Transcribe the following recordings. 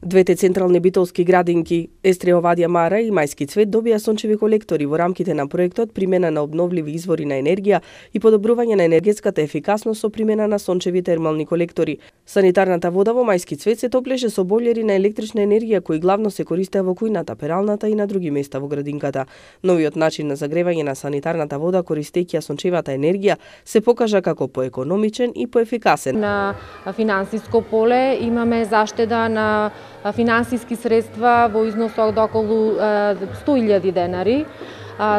Двете централни битолски градинки, Естреовадија Мара и Мајски цвет, добија сончеви колектори во рамките на проектот примена на обновливи извори на енергија и подобрување на енергетската ефикасност со примена на сончеви термални колектори. Санитарната вода во Мајски цвет се топлеше со бойлери на електрична енергија кои главно се користеа во кујната, пералната и на други места во градинката. Новиот начин на загревање на санитарната вода користејќи сончевата енергија се покажа како поекономичен и поефикасен. На финансиско поле имаме заштеда на финансиски средства во износ од околу 100.000 денари,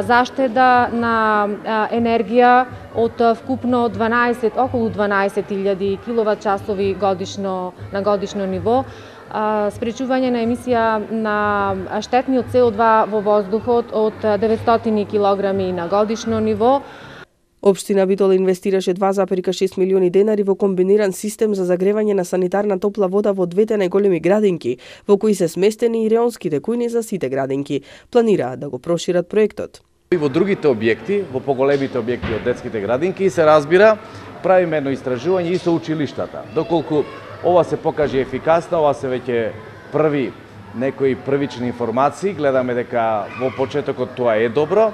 заштеда на енергија од вкупно околу 12.000 киловат-часови на годишно ниво, спречување на емисија на штетниот CO2 во воздухот од 900 килограми на годишно ниво. Општина Битола инвестираше 2,6 милиони денари во комбиниран систем за загревање на санитарна топла вода во двете најголеми градинки, во кои се сместени и реонските кујни за сите градинки. Планираат да го прошират проектот. И во другите објекти, во поголемите објекти од детските градинки, се разбира, правиме едно истражување и со училиштата. Доколку ова се покаже ефикасно, ова се веќе некои првични информации, гледаме дека во почетокот тоа е добро.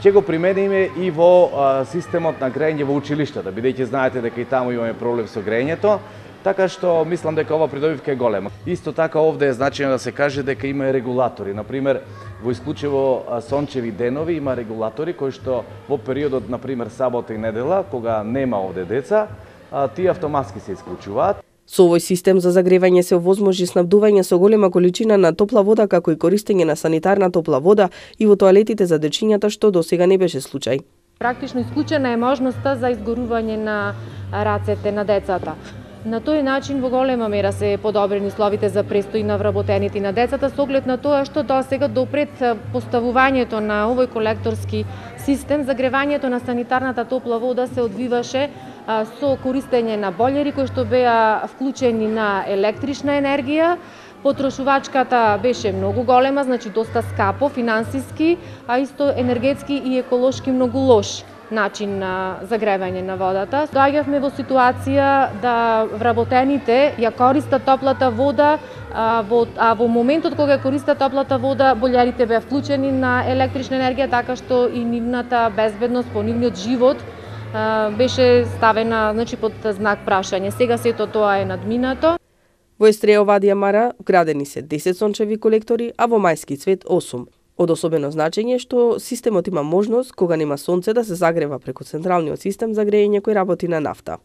Ќе го примениме и во системот на грејење во училиштата, бидејќи знаете дека и таму имаме проблем со грејењето, така што мислам дека ова придобивка е голема. Исто така овде е значајно да се каже дека има регулатори. Например, во исклучиво сончеви денови има регулатори кои што во периодот, например, сабота и недела, кога нема овде деца, тие автоматски се исклучуваат. Со овој систем за загревање се овозможи снабдување со голема количина на топла вода, како и користење на санитарна топла вода и во тоалетите за дечињата, што досега не беше случај. Практично исклучена е можноста за изгорување на рацете на децата. На тој начин во голема мера се подобрени условите за престој на вработените на децата, со оглед на тоа што досега допред поставувањето на овој колекторски систем, загревањето на санитарната топла вода се одвиваше со користење на бойлери кои што беа вклучени на електрична енергија. Потрошувачката беше многу голема, значи доста скапо финансиски, а исто енергетски и еколошки многу лош начин на загревање на водата. Доаѓавме во ситуација да вработените ја користат топлата вода, а во моментот кога ја користат топлата вода, бойлерите беа вклучени на електрична енергија, така што и нивната безбедност по нивниот живот беше ставена под знак прашање. Сега сето тоа е надминато. Во Естреовадија Мара градени се 10 сончеви колектори, а во Мајски цвет 8. Од особено значење што системот има можност, кога нема сонце, да се загрева преку централниот систем за грејење кој работи на нафта.